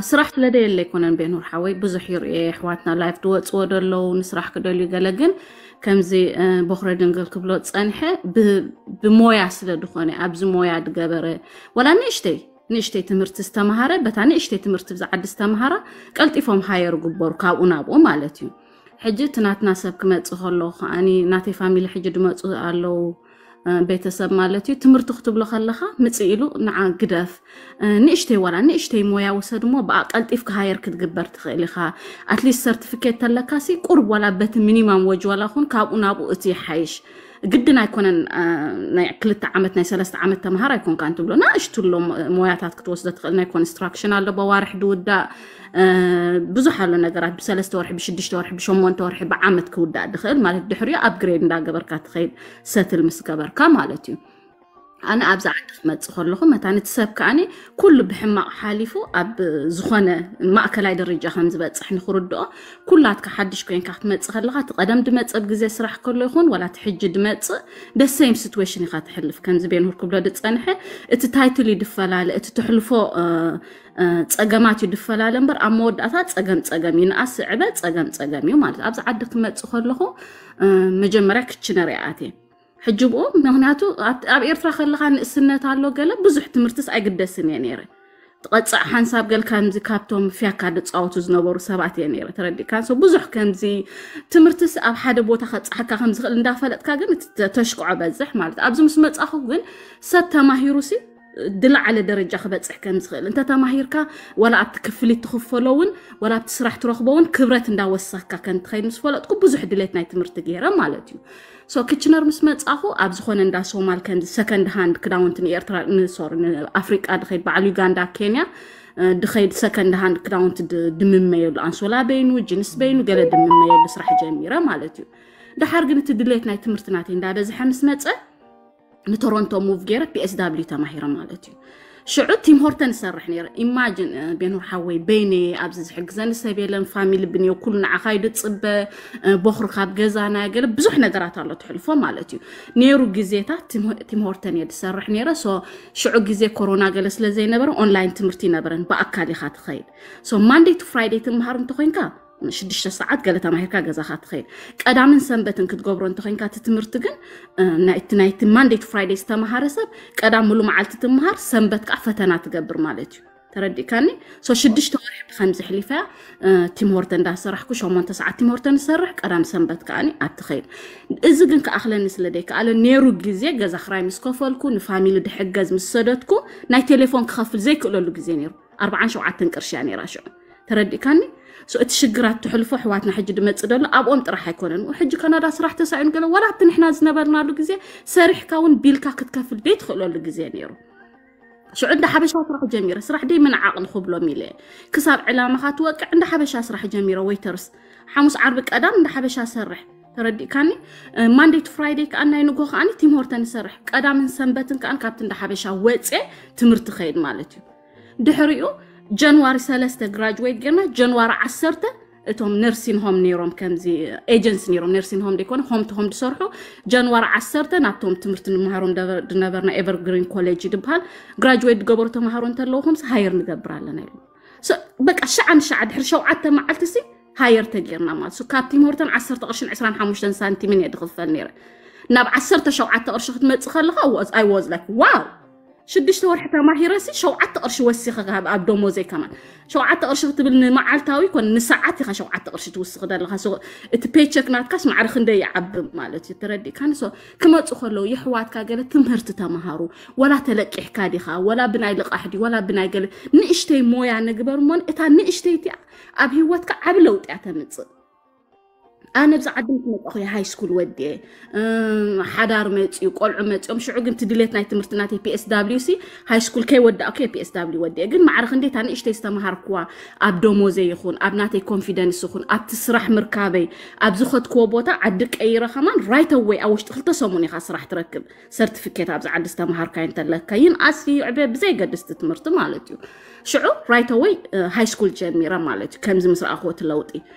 ስራሕ ስለ ደየለ ኣይኮነን ቤኑር ሓወይ፣ ብዙሕ ይርእየ ኣሕዋትና ላይፍ ድወፅዎ ደለዉ ንስራሕ ክደልዩ ገለ፣ ግን ከምዚ ቦኽረ ድንግል ክብሎ ፀንሐ ብሞያ ስለ ድኾነ ኣብዚ ሞያ ድገበረ ዋላ ንእሽተይ ንእሽተይ ትምህርቲ ዝተምሃረ በታ ንእሽተይ ትምህርቲ ብዛ ዓዲ ዝተምሃራ ቀልጢፎም ሃየር ግበሩ ካብኡ ናብኡ ማለት እዩ። ሕጂ እቲ ናትና ሰብ ክመፅእ ከለዉ ከዓኒ ናተይ ፋሚሊ ሕጂ ድመፁ ኣለዉ ቤተሰብ ማለት እዩ። ትምህርቲ ክትብሎ ከለኻ ምፅእ ኢሉ ንዓ ግደፍ ንእሽተይ ዋላ ንእሽተይ ሞያ ውሰድ እሞ ብኣ ቀልጢፍ ክሃየር ክትግበር ትኽእል ኢኻ። ኣትሊስት ሰርቲፊኬት ተለካሲ ቁርብ ዋላ በቲ ሚኒማም ወጅ ዋላ ኹን ካብኡ ናብኡ እቲ ይሓይሽ። ግድን ኣይኮነን ናይ ክልተ ዓመት ናይ ሰለስተ ዓመት ተምሃር ኣይኮንካ እንትብሎ ናእሽቱ ኣሎ ሞያታት ክትወስዶ ትኽእል። ናይ ኮንስትራክሽን ኣሎ በዋርሕ ድውዳእ ብዙሕ ኣሎ ነገራት ብሰለስተ ወርሒ ብሽዱሽተ ወርሒ ብሸሞንተ ወርሒ ብዓመት ክውዳእ ድኽእል ማለት ድሕሪኡ ኣፕግሬድ እንዳገበርካ ትኸይድ ሰትል ምስ ገበርካ ማለት እዩ። ኣነ ኣብዚ ዓዲ ክመፅእ ከለኹ መታን እቲ ሰብ ከዓኒ ኩሉ ብሕማቕ ሓሊፉ ኣብ ዝኾነ ማእከላይ ደረጃ ከም ዝበፅሕ ንክርድኦ ኩላትካ ሓድሽ ኮይንካ ክትመፅእ ከለኻ እቲ ቀደም ድመፅእ ኣብ ግዜ ስራሕ ከሎ ይኹን ዋላ እቲ ሕጂ ድመፅእ ደሰይም ሲትዌሽን ኢኻ ትሕልፍ። ከምዚ ቤንሁር ክብሎ ድፀንሐ እቲ ታይትል እዩ ድፈላለ፣ እቲ ትሕልፎ ፀገማት እዩ ድፈላለ እምበር ኣብ መወዳእታ ፀገም ፀገም እዩ። ንኣስ ዕበ ፀገም ፀገም እዩ ማለት ኣብዚ ዓዲ ክመፅእ ከለኹ መጀመርያ ክችነር እየ ኣትየ ሕጂ ብኡ ምክንያቱ ኣብ ኤርትራ ከለካ ንእስነት ኣሎ ገለ ብዙሕ ትምህርትስ ኣይግደስን እየ ነይረ። ትቐፅዕ ሓንሳብ ገል ከምዚ ካብቶም ፍያካ ድፃወቱ ዝነበሩ ሰባት እየ ነይረ። ተረዲእካ? ብዙሕ ከምዚ ትምህርትስ ኣብ ሓደ ቦታ ከብፅሓካ ከምዝኽእል እንዳፈለጥካ ግን ተሽክዖ በዝሕ ማለት ኣብዚ ምስ መፃኹ ግን ሰብ ተማሂሩ ሲ ድላዓለ ደረጃ ክበፅሕ ከም ዝኽእል እንተ ተማሂርካ ወላ ኣብቲ ክፍሊት ትኽፈሎ እውን ወላ ኣብቲ ስራሕ ትረኽቦ እውን ክብረት እንዳወሰኽካ ከም ትኸይድ ምስ ፈለጥኩ ብዙሕ ድሌት ናይ ትምህርቲ ገይረ ማለት እዩ። ሶ ክችነር ምስ መፃኹ ኣብ ዝኾነ እንዳ ሶማል ከምዚ ሰከንድ ሃንድ ክዳውንቲ ንኤርትራ ንሶር ንኣፍሪቃ ድኸይድ በዓል ዩጋንዳ ኬንያ ድኸይድ ሰከንድ ሃንድ ክዳውንቲ ድምመየሉ ኣንሶላ በይኑ ጅንስ በይኑ ገለ ድምመየሉ ስራሕ ጀሚረ ማለት እዩ። ድሓር ግን እቲ ድሌት ናይ ትምህርቲ ናተይ እንዳበዝሐ ምስ መፀ ንቶሮንቶ ሙቭ ገይረ ፒኤስዳብሊዩ ተማሂረ ማለት እዩ። ሽዑ ቲም ሆርተን ይሰርሕ ነይረ። ኢማጅን ቤኑር ሓወይ በይነ ኣብዚ ዝሕግዘኒ ሰብ የለን፣ ፋሚሊ ብንዮ ኩሉ ንዓኻ እዩ ድፅበ፣ ቦኽሪ ካብ ገዛና ገለ ብዙሕ ነገራት ኣሎ ትሕልፎ ማለት እዩ። ነይሩ ግዜታት ቲም ሆርተን እየ ድሰርሕ ነይረ። ሶ ሽዑ ግዜ ኮሮና ገለ ስለ ዘይነበረ ኦንላይን ትምህርቲ ይነበረን ብኣካል ኢኻ ትኸይድ። ሶ ማንደይ ቱ ፍራይደይ ትምሃር እንተኮይንካ ሽዱሽተ ሰዓት ገለ ተማሂርካ ገዛኻ ትኸይድ። ቀዳምን ሰንበትን ክትገብሮ እንተኮይንካ እቲ ትምህርቲ ግን ናይቲ ናይቲ ማንደይ ቱ ፍራይደይ ዝተምሃረ ሰብ ቀዳም ሙሉ መዓልቲ ትምሃር ሰንበት ከዓ ፈተና ትገብር ማለት እዩ። ተረዲእካኒ? ሶ ሽዱሽተ ወርሒ ብከምዚ ሕሊፈያ ቲምሆርተ እንዳሰራሕኩ ሸሞንተ ሰዓት ቲምሆርተ ንሰርሕ ቀዳም ሰንበት ከዓኒ ኣትኸይድ። እዚ ግን ክኣኽለኒ ስለ ደይከኣለ ነይሩ ግዜ ገዛ ክራይ ምስ ከፈልኩ ንፋሚሊ ድሕገዝ ምስ ሰደድኩ ናይ ቴሌፎን ክኸፍል ዘይክእለሉ ግዜ ነይሩ። ኣርባዓን ሸውዓተን ቅርሺ እያ ነይራ ሽዑ። ተረዲእካኒ? ሶ እቲ ሽግራት ትሕልፎ ኣሕዋትና ሕጂ ድመፅእ ደሎ ኣብኦም ጥራሕ ኣይኮነን። ሕጂ ካናዳ ስራሕ ተሳኢኑ ገለ ዋላ ኣብቲ ንሕና ዝነበርናሉ ግዜ ሰሪሕካ እውን ቢልካ ክትከፍል ደይ ትኽእለሉ ግዜ ነይሩ። ሽዑ እንዳ ሓበሻ ስራሕ ጀሚረ። ስራሕ ደይ ምንዓቕ ንኽብሎም ኢለ ክሳብ ዕላማኻ ትወቅዕ እንዳ ሓበሻ ስራሕ ጀሚረ። ወይተርስ ሓሙስ ዓርቢ ቀዳም እንዳ ሓበሻ ሰርሕ። ተረዲእካኒ? ማንደይ ቱ ፍራይደይ ከዓ ናይ ንጎ ከዓኒ ቲምሆርተን ይሰርሕ። ቀዳምን ሰንበትን ከዓ ካብቲ እንዳ ሓበሻ ወፅየ ትምህርቲ ከይድ ማለት እዩ። ድሕሪኡ ጃንዋሪ ሰለስተ ግራጅዌት ጌርና ጃንዋሪ ዓሰርተ እቶም ነርሲን ሆም ነይሮም ከምዚ ኤጀንሲ ነይሮም ነርሲን ሆም ደይኮነ ሆም ቱ ሆም ዝሰርሑ ጃንዋሪ ዓሰርተ ናብቶም ትምህርቲ ንምሃሮም ድነበርና ኤቨርግሪን ኮሌጅ ድበሃል ግራጅዌት ዝገበሩ ተምሃሮ እንተለዉ ከምዚ ሃየር ንገብር ኣለና ኢሉ። በቃ ሸዓ ንሸዓ ድሕሪ ሸውዓተ መዓልቲ ሲ ሃየር ተጌርና ማለት ሱ ካብ ቲምሆርተን ዓሰርተ ቅርሽን ዕስራን ሓሙሽተን ሳንቲምን እየ ድኽፈል ነይረ። ናብ ዓሰርተ ሸውዓተ ቅርሺ ክትመፅእ ከለኻ ኣይ ዋዝ ላይክ ዋው ሽዱሽተ ወርሒ ተማሂረሲ ሸውዓተ ቅርሺ ወሲኸ ኣብ ደሞዘይ ከማን ሸውዓተ ቅርሺ ክትብል ንመዓልታዊ ኮን ንሰዓት ኢኻ ሸውዓተ ቅርሺ ትውስኽ ዘለኻ። እቲ ፔቸክ ናትካስ ማዕረ ክንደይ ይዓቢ ማለት እዩ። ተረዲእካኒ? ክመፁ ከለዉ የሕዋትካ ገለ ትምህርቲ ተምሃሩ። ወላ ተለቂሕካ ዲኻ ወላ ብናይ ልቓሕ ዲ ወላ ብናይ ገለ ንእሽተይ ሞያ ንግበር እሞን እታ ንእሽተይ እቲኣ ኣብ ህይወትካ ዓቢ ለውጢ እያ ተምፅእ። ኣነ ብዛ ዓዲ ምስ መጣኹ ሃይ ስኩል ወዲኤ ሓዳር መፅኡ ቆልዑ መፅኦም ሽዑ ግን ትድሌት ናይ ትምህርቲ ናተይ ፒኤስ ዳብሊዩ ሲ ሃይ ስኩል ከይወዳእኩ ፒኤስ ዳብሊዩ ወዲኤ ግን ማዕረ ክንደይ እታ ንእሽተይ ዝተምሃርኩዋ ኣብ ደሞዘይ ይኹን ኣብ ናተይ ኮንፊደንስ ይኹን ኣብቲ ስራሕ ምርካበይ ኣብ ዝኸድክዎ ቦታ ዓዲ ቀይረ ከማን ራይት ኣወይ ኣብ ውሽጢ ክልተ ሰሙን ኢኻ ስራሕ ትረክብ። ሰርቲፊኬት ኣብዚ ዓዲ ዝተምሃርካዮ እንተለካ ይንኣስ ይዕበ ብዘይገድስ እቲ ትምህርቲ ማለት እዩ። ሽዑ ራይት ኣወይ ሃይ ስኩል ጀሚረ ማለት እዩ። ከምዚ ምስ ረኣኽዎ እቲ ለውጢ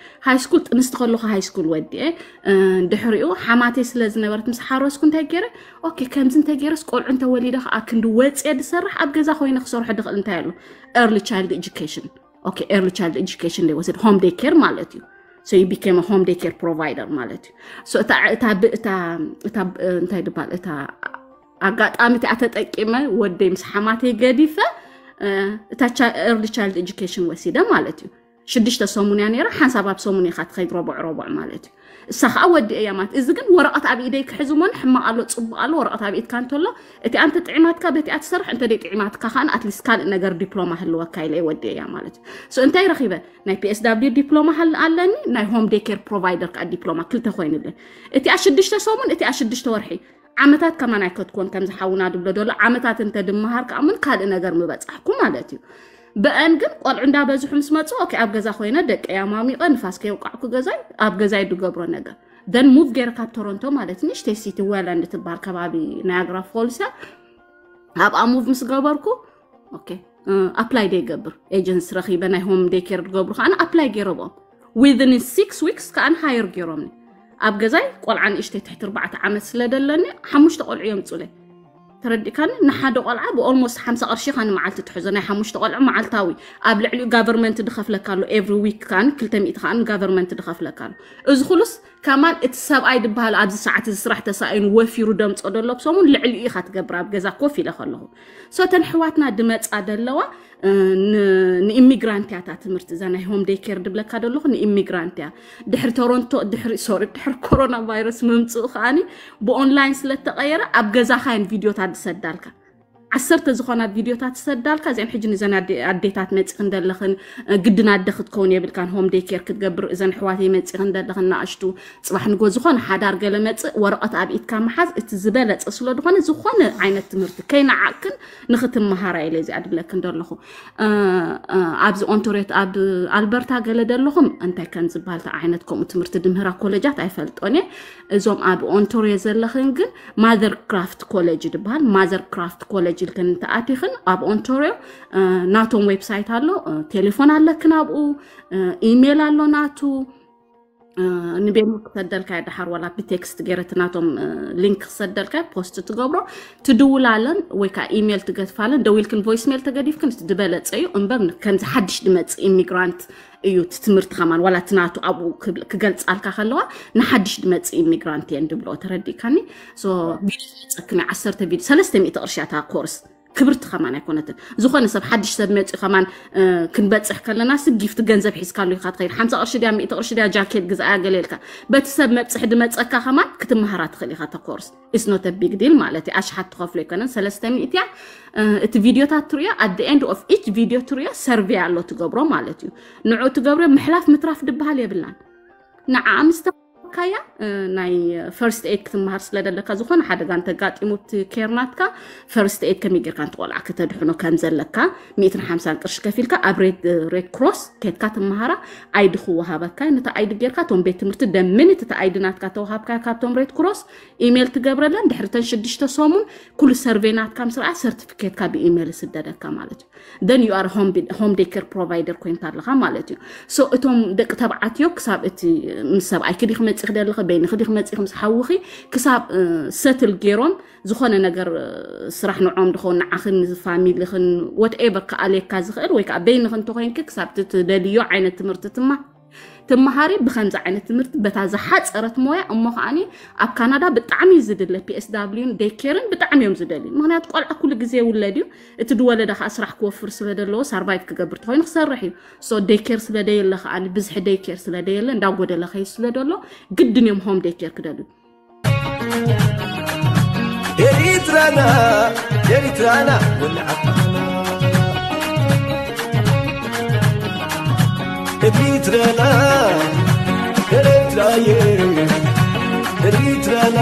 ሃይ ስኩል ጥንስቲ ከለኹ ሃይ ስኩል ወዲኤ ድሕሪኡ ሓማተይ ስለ ዝነበረት ምስ ሓረስኩ እንታይ ገይረ ኦኬ ከምዚ እንተ ገይረስ ቆልዑ እንተወሊደ ከዓ ክንዲ ወፅየ ዝሰርሕ ኣብ ገዛ ኮይነ ክሰርሖ ድኽእል እንታይ ኣሎ ኤርሊ ቻይልድ ኤጁኬሽን okay, early child education ደይወስድ፣ home day care ማለት እዩ። So you became a home day care provider ማለት እዩ። So እታ እታ ብ- እታ እታ ብ- እንታይ ድባል እታ ኣጋጣሚ እቲኣ ተጠቂመ ወደይ ምስ ሓማተይ ገዲፈ፣ እ፣ እታ ቻ- early child education ወሲደ ማለት እዩ። ሽዱሽተ ሰሙን እያ ነይራ። ሓንሳብ ኣብ ሰሙን ኢኻ ትኸይድ፣ ረቡዕ ረቡዕ ማለት እዩ። እሳ ከዓ ወዲ እያ ማለት። እዚ ግን ወረቐት ኣብ ኢደይ ክሕዝ እሞን ሕማቕ ኣሎ ጽቡቕ ኣሎ፣ ወረቐት ኣብ ኢድካ እንተሎ እቲ ኣንተ ጥዒማትካ በቲኣ ትሰርሕ፣ እንተ ደይ ጥዒማትካ ከዓ ኣትሊስት ካልእ ነገር ዲፕሎማ ህልወካ ኢለ ወዲ እያ ማለት እዩ። So እንታይ ረኺበ? ናይ P S W ዲፕሎማ ሃል ኣለኒ፣ ናይ home day care provider ከዓ ዲፕሎማ፣ ክልተ ኮይኑለይ። እቲኣ ሽዱሽተ ሰሙን፣ እቲኣ ሽዱሽተ ወርሒ። ዓመታት ከማን ኣይከትኮን ከምዚ ሓውና ድብሎ ደሎ፣ ዓመታት እንተ ድመሃር ከዓ ምን ካልእ ነገር ምበጻሕኩ ማለት እዩ። ብአን ግን ቆልዑ እንዳበዝሑ ምስ መጹ፣ okay፣ ኣብ ገዛ ኮይነ ደቂ ኣማሚቐ ንፋስ ከየውቃዕኩ ገዛይ ኣብ ገዛይ ድገብሮ ነገር። Then ሙቭ ገይረ ካብ ቶሮንቶ ማለት ንእሽተይ ሲቲ ዌላንድ ትበሃል ከባቢ ናያግራ ፎልስ እያ። ኣብኣ ሙቭ ምስ ገበርኩ፣ okay፣ ኣፕላይ ደይገብር ኤጀንሲ ረኺበ፣ ናይ home day care ድገብሩ ከዓ ኣፕላይ ገይረብኦም። Within six weeks ከዓ ሃየር ገይሮምኒ። ኣብ ገዛይ ቆልዓ ንእሽተይ ትሕቲ ኣርባዕተ ዓመት ስለ ደለኒ ሓሙሽተ ቆልዑ የምጹለይ። ተረዲእካኒ? ንሓደ ቆልዓ ብ almost ሓምሳ ቅርሺ ኢኻ ንመዓልቲ ትሕዞ፣ ናይ ሓሙሽተ ቆልዑ መዓልታዊ። ኣብ ልዕሊኡ ጋቨርመንት ድኸፍለካ ኣሎ፣ every week ከዓ ክልተ ሚእቲ ከዓ ንጋቨርመንት ድኸፍለካ ኣሎ። እዚ ኩሉስ ከማን እቲ ሰብኣይ ድበሃል ኣብዚ ሰዓት እዚ ስራሕ ተሳኢኑ ወፊሩ ደምጾ ደሎ ብሰሙን ልዕሊኡ ኢኻ ትገብር ኣብ ገዛ ኮፍ ኢለ ከለኹ። So እተን ኣሕዋትና ድመጻ ደለዋ፣ እ፣ ን- ንኢሚግራንት እያ እታ ትምህርቲ፣ እዛ ናይ home day care ድብለካ ደለኹ ንኢሚግራንት እያ። ድሕሪ ቶሮንቶ፣ ድሕሪ ሶሪ፣ ድሕሪ ኮሮና ቫይረስ ምምፅኡ ከዓኒ ብኦንላይን ስለ ተቐየረ ኣብ ገዛኻ እየን ቪድዮታት ዝሰዳልካ። ዓሰርተ ዝኾና ቪድዮታት ዝሰዳልካ፣ እዚአን ሕጂ ንዘን ኣዴ- ኣዴታት መፂኽን ደለኽን፣ እ፣ ግድን ኣደ ክትከውን የብልካን፣ home day care ክትገብር፣ እዘን ኣሕዋተይ መፂኽን ደለኽን ንኣሽቱ፣ ፅባሕ ንጎ ዝኾነ ሓዳር ገለ መፅእ ወረቐት ኣብ ኢድካ ምሓዝ እቲ ዝበለፀ ስለ ዝኾነ፣ ዝኾነ ዓይነት ትምህርቲ ከይነዓቅክን ንኽትመሃራ ኢለ እዚኣ ድብለክን ደለኹ። እ፣ እ፣ ኣብዚ ኦንቶሪዮ፣ ኣብ ኣልበርታ ገለ ደለኹም እንታይ ከም ዝበሃል፣ እንታይ ዓይነት ከምኡ ትምህርቲ ድምህራ ኮሌጃት ኣይፈልጦን እየ። እዞም ኣብ ኦንቶሪዮ ዘለኽን ግን ማዘር ክራፍት ኮሌጅ ድበሃል። ማዘር ክራፍት ኮሌጅ ኢልክን እንተኣቲኽን ኣብ ኦንቶሪዮ፣ እ፣ ናቶም ዌብሳይት ኣሎ፣ እ፣ ቴሌፎን ኣለክን ኣብኡ፣ እ፣ ኢሜይል ኣሎ ናቱ፣ እ፣ ንቤኑ ክሰደልካ ድሓር ዋላ ብቴክስት ገይረ እቲ ናቶም፣ እ፣ ሊንክ ክሰደልካ ፖስት ትገብሮ፣ ትድውላለን ወይ ከዓ ኢሜይል ትገድፋለን። ደዊልክን ቮይስ ሜይል ተገዲፍክን እቲ ዝበለጸ እዩ። እምበር ከምዚ ሓድሽ ድመጽእ ኢሚግራንት እዩ እቲ ትምህርቲ ከማን፣ ዋላ እቲ ናቱ ኣብኡ ክብል- ክገልጻልካ ከለዋ ንሓድሽ ድመጽእ ኢሚግራንት እየን ድብሎ። ተረዲእካኒ? So ቪድዮ ዝመጸክኒ ዓሰርተ ቪድዮ ሰለስተ ሚእቲ ቅርሺ እያ እታ ኮርስ። ክብርቲ ከማን ኣይኮነትን። ዝኾነ ሰብ ሓድሽ ሰብ መፂኡ ከማን፣ እ፣ ክንበፅሕ ከለና ስ ጊፍት ገንዘብ ሒዝካሉ ኢኻ ትኸይድ። ሓምሳ ቅርሺ ድያ፣ ሚእቲ ቅርሺ ድያ፣ ጃኬት ግዛያ ገለ ኢልካ በቲ ሰብ መብፅሒ ድመፀካ ከማን ክትመሃራ ትኽእል ኢኻ። እታ ኮርስ it's not a big deal ማለት እዩ። ኣሽሓት ትኸፍሎ ኣይኮነን፣ ሰለስተ ሚእቲ እያ። እ፣ እቲ ቪድዮታት ትርእዮ፣ at the end of each video ትርእዮ ሰርቬይ ኣሎ ትገብሮ ማለት እዩ። ንዑ ትገብሮ ምሕላፍ ምትራፍ ድበሃል የብላን። ንዓ ምስ ተማሃርካያ፣ እ፣ ናይ ፈርስት ኤድ ክትመሃር ስለ ደለካ፣ ዝኾነ ሓደጋ እንተጋጢሙ እቲ ኬር ናትካ ፈርስት ኤድ ከመይ ጌርካ ነቲ ቆልዓ ከተድሕኖ ከም ዘለካ ሚእትን ሓምሳን ቅርሺ ከፊልካ ኣብ ሬድ ሬድ ክሮስ ኬድካ ትመሃራ። ኣይዲ ክወሃበካ፣ ነቲ ኣይዲ ጌርካ እቶም ቤት ትምህርቲ ደምንት እቲ ኣይዲ ናትካ ተዋሃብካ ካብቶም ሬድ ክሮስ ኢሜል ትገብረለን። ድሕሪ ተን ሽዱሽተ ሰሙን ኩሉ ሰርቬይ ናትካ ምስ ረኣ ሰርቲፊኬትካ ብኢሜል ይስደደካ ማለት እዩ። Then you are home day care provider ኮይንካ ኣለኻ ማለት እዩ። So እቶም ደቂ ተባዕትዮ ክሳብ እቲ ምስ ሰብኣይኪ ዲኺ መፂኺ ደለኺ፣ በይንኺ ዲኺ መፂኺ ምስ ሓውኺ ክሳብ ሰትል ገይሮም ዝኾነ ነገር፣ እ፣ ስራሕ ንዖም ድኸውን ንዓኽን ንፋሚሊኽን whatever ክኣልየካ ዝኽእል ወይ ከዓ በይንኺ እንተኮይንኪ ክሳብ እቲ ትደልዮ ዓይነት ትምህርቲ ትማ ትመሃሪ ብከምዚ ዓይነት ትምህርቲ በታ ዝሓፀረት ሞያ። እሞ ከዓኒ ኣብ ካናዳ ብጣዕሚ እዩ ዝድለ፣ ፒኤስዳብሊውን ዴይኬርን ብጣዕሚ እዮም ዝደልዩ። ምክንያቱ ቆልዓ ኩሉ ግዜ ይውለድ እዩ። እቲ ዝወለደ ከዓ ስራሕ ክወፍር ስለ ዘለዎ፣ ሳርቫይቭ ክገብር ተኮይኑ ክሰርሕ እዩ። ሶ ዴይኬር ስለ ደየለ ከዓኒ፣ ብዝሒ ዴይኬር ስለ ደየለ፣ እንዳጎደለ ከይድ ስለ ደሎ ግድን እዮም ሆም ዴይኬር ክደልዩ። ኤሪትራና ኤሪትራና ወልዓና ኤሪትራና ኤሪትራየ ኤሪትራና